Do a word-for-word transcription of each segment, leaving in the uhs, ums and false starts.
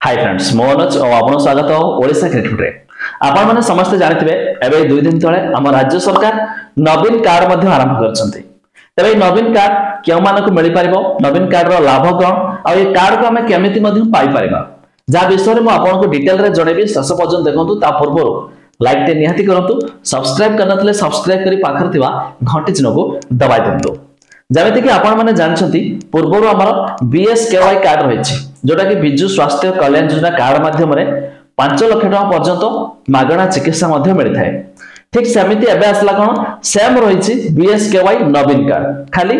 High friends, ମୁଁ ଅନୁଜ ଓ ଆପଣଙ୍କୁ ସ୍ୱାଗତ ଓଡ଼ିଶା କ୍ରିକେଟରେ। ଆପଣମାନେ ସମସ୍ତେ ଜାଣିଥିବେ, ଏବେ ଦୁଇ ଦିନ ତଳେ ଆମ ରାଜ୍ୟ ସରକାର ନବୀନ କାର୍ଡ ମଧ୍ୟ ଆରମ୍ଭ କରିଛନ୍ତି। ତେବେ ଏଇ ନବୀନ କାର୍ଡ କେଉଁମାନଙ୍କୁ ମିଳିପାରିବ, ନବୀନ କାର୍ଡର ଲାଭ କଣ ଆଉ ଏ କାର୍ଡକୁ ଆମେ କେମିତି ମଧ୍ୟ ପାଇପାରିବା, ଯାହା ବିଷୟରେ ମୁଁ ଆପଣଙ୍କୁ ଡିଟେଲରେ ଜଣେଇବି। ଶେଷ ପର୍ଯ୍ୟନ୍ତ ଦେଖନ୍ତୁ। ତା ପୂର୍ବରୁ ଲାଇକ୍ ଟେ ନିହାତି କରନ୍ତୁ, ସବସ୍କ୍ରାଇବ କରିନଥିଲେ ସବସ୍କ୍ରାଇବ କରି ପାଖରେ ଥିବା ଘଣ୍ଟି ଚିହ୍ନକୁ ଦବାଇ ଦିଅନ୍ତୁ। ଯେମିତିକି ଆପଣମାନେ ଜାଣିଛନ୍ତି, ପୂର୍ବରୁ ଆମର ବିଏସକେୱାଇ କାର୍ଡ ରହିଛି, ଯୋଉଟାକି ବିଜୁ ସ୍ୱାସ୍ଥ୍ୟ କଲ୍ୟାଣ ଯୋଜନା କାର୍ଡ ମାଧ୍ୟମରେ ପାଞ୍ଚ ଲକ୍ଷ ଟଙ୍କା ପର୍ଯ୍ୟନ୍ତ ମାଗଣା ଚିକିତ୍ସା ମଧ୍ୟ ମିଳିଥାଏ। ଠିକ ସେମିତି ଏବେ ଆସିଲା କଣ, ସେମ୍ ରହିଛି ବିଏସକେୱାଇ ନବୀନ କାର୍ଡ, ଖାଲି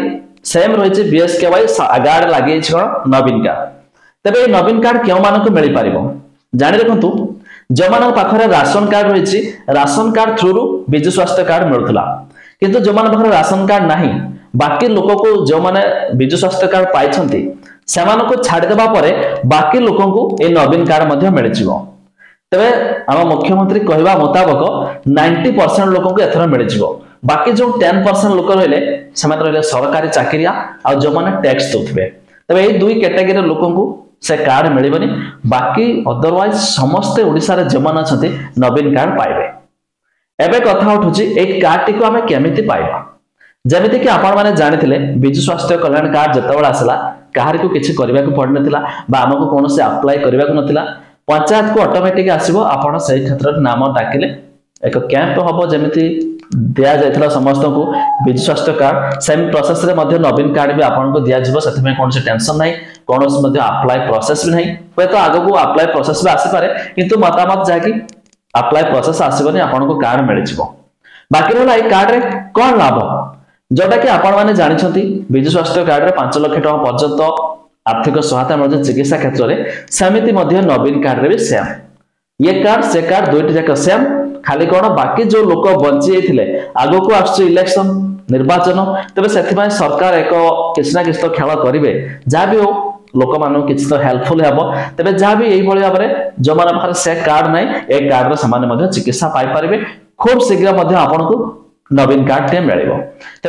ସେମ୍ ରହିଛି ବିଏସକେୱାଇ, ଗାର୍ଡ ଲାଗିଯାଇଛି କଣ, ନବୀନ କାର୍ଡ। ତେବେ ଏଇ ନବୀନ କାର୍ଡ କେଉଁମାନଙ୍କୁ ମିଳିପାରିବ ଜାଣି ରଖନ୍ତୁ। ଯେଉଁମାନଙ୍କ ପାଖରେ ରାସନ କାର୍ଡ ରହିଛି, ରାସନ କାର୍ଡ ଥ୍ରୁରୁ ବିଜୁ ସ୍ୱାସ୍ଥ୍ୟ କାର୍ଡ ମିଳୁଥିଲା। କିନ୍ତୁ ଯେଉଁମାନଙ୍କ ପାଖରେ ରାସନ କାର୍ଡ ନାହିଁ, ବାକି ଲୋକକୁ, ଯେଉଁମାନେ ବିଜୁ ସ୍ୱାସ୍ଥ୍ୟ କାର୍ଡ ପାଇଛନ୍ତି ସେମାନଙ୍କୁ ଛାଡ଼ିଦେବା ପରେ ବାକି ଲୋକଙ୍କୁ ଏଇ ନବୀନ କାର୍ଡ ମଧ୍ୟ ମିଳିଯିବ। ତେବେ ଆମ ମୁଖ୍ୟମନ୍ତ୍ରୀ କହିବା ମୁତାବକ ନାଇଣ୍ଟି ପରସେଣ୍ଟ ଲୋକଙ୍କୁ ଏଥର ମିଳିଯିବ। ବାକି ଯୋଉ ଟେନ୍ ପରସେଣ୍ଟ ଲୋକ ରହିଲେ, ସେମାନେ ରହିଲେ ସରକାରୀ ଚାକିରିଆ ଆଉ ଯେଉଁମାନେ ଟ୍ୟାକ୍ସ ଦଉଥିବେ। ତେବେ ଏଇ ଦୁଇ କ୍ୟାଟାଗୋରୀର ଲୋକଙ୍କୁ ସେ କାର୍ଡ ମିଳିବନି। ବାକି ଅଦରୱାଇଜ ସମସ୍ତେ ଓଡ଼ିଶାରେ ଯେଉଁମାନେ ଅଛନ୍ତି ନବୀନ କାର୍ଡ ପାଇବେ। ଏବେ କଥା ଉଠୁଛି, ଏଇ କାର୍ଡଟିକୁ ଆମେ କେମିତି ପାଇବା? ଯେମିତିକି ଆପଣମାନେ ଜାଣିଥିଲେ, ବିଜୁ ସ୍ୱାସ୍ଥ୍ୟ କଲ୍ୟାଣ କାର୍ଡ ଯେତେବେଳେ ଆସିଲା, କାହାରିକୁ କିଛି କରିବାକୁ ପଡିନଥିଲା ବା ଆମକୁ କୌଣସି ଆପ୍ଲାଏ କରିବାକୁ ନଥିଲା। ପଞ୍ଚାୟତକୁ ଅଟୋମେଟିକ ଆସିବ, ଆପଣ ସେଇ କ୍ଷେତ୍ରରେ ନାମ ଡାକିଲେ ଏକ କ୍ୟାମ୍ପ ହବ। ଯେମିତି ଦିଆଯାଇଥିଲା ସମସ୍ତଙ୍କୁ ବିଜୁ ସ୍ୱାସ୍ଥ୍ୟ କାର୍ଡ, ସେମ୍ ପ୍ରୋସେସରେ ମଧ୍ୟ ନବୀନ କାର୍ଡ ବି ଆପଣଙ୍କୁ ଦିଆଯିବ। ସେଥିପାଇଁ କୌଣସି ଟେନସନ ନାହିଁ, କୌଣସି ମଧ୍ୟ ଆପ୍ଲାଏ ପ୍ରୋସେସ ବି ନାହିଁ। ହୁଏତ ଆଗକୁ ଆପ୍ଲାଏ ପ୍ରୋସେସ ବି ଆସିପାରେ, କିନ୍ତୁ ମତାମତ ଯାହାକି ଆପ୍ଲାଏ ପ୍ରୋସେସ ଆସିବନି, ଆପଣଙ୍କୁ କାର୍ଡ ମିଳିଯିବ। ବାକି ରହିଲା ଏଇ କାର୍ଡରେ କଣ ଲାଭ, ଯୋଉଟା କି ଆପଣମାନେ ଜାଣିଛନ୍ତି, ବିଜୁ ସ୍ୱାସ୍ଥ୍ୟ କାର୍ଡରେ ପାଞ୍ଚ ଲକ୍ଷ ଟଙ୍କା ପର୍ଯ୍ୟନ୍ତ ଆର୍ଥିକ ସହାୟତା ମିଳୁଛି ଚିକିତ୍ସା କ୍ଷେତ୍ରରେ। ସେମିତି ମଧ୍ୟ ନବୀନ କାର୍ଡରେ ବି ସେମ୍। ଇଏ କାର୍ଡ ସେ କାର୍ଡ ଦୁଇଟି ଯାକ ସେମ୍। ଖାଲି କଣ, ବାକି ଯୋଉ ଲୋକ ବଞ୍ଚି ଯାଇଥିଲେ, ଆଗକୁ ଆସୁଛି ଇଲେକ୍ସନ, ନିର୍ବାଚନ, ତେବେ ସେଥିପାଇଁ ସରକାର ଏକ କିଛି ନା କିଛି ତ ଖେଳ କରିବେ। ଯାହା ବି ହଉ, ଲୋକମାନଙ୍କୁ କିଛି ତ ହେଲ୍ପଫୁଲ ହେବ। ତେବେ ଯାହା ବି ଏଇଭଳି ଭାବରେ ଯୋଉମାନଙ୍କ ପାଖରେ ସେ କାର୍ଡ ନାହିଁ, ଏ କାର୍ଡରେ ସେମାନେ ମଧ୍ୟ ଚିକିତ୍ସା ପାଇପାରିବେ। ଖୁବ ଶୀଘ୍ର ମଧ୍ୟ ଆପଣଙ୍କୁ ନବୀନ କାର୍ଡ ଟିଏ ମିଳିବ।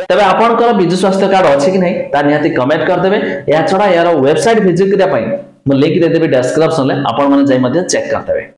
ତେବେ ଆପଣଙ୍କର ବିଜୁ ସ୍ୱାସ୍ଥ୍ୟ କାର୍ଡ ଅଛି କି ନାହିଁ, ତା ନିହାତି କମେଣ୍ଟ କରିଦେବେ। ଏହା ଛଡା ଏହାର ୱେବସାଇଟ ଭିଜିଟ କରିବା ପାଇଁ ମୁଁ ଲିଙ୍କ ଦେଇଦେବି ଡେସ୍କ୍ରିପସନରେ, ଆପଣମାନେ ଯାଇ ମଧ୍ୟ ଚେକ୍ କରିଦେବେ।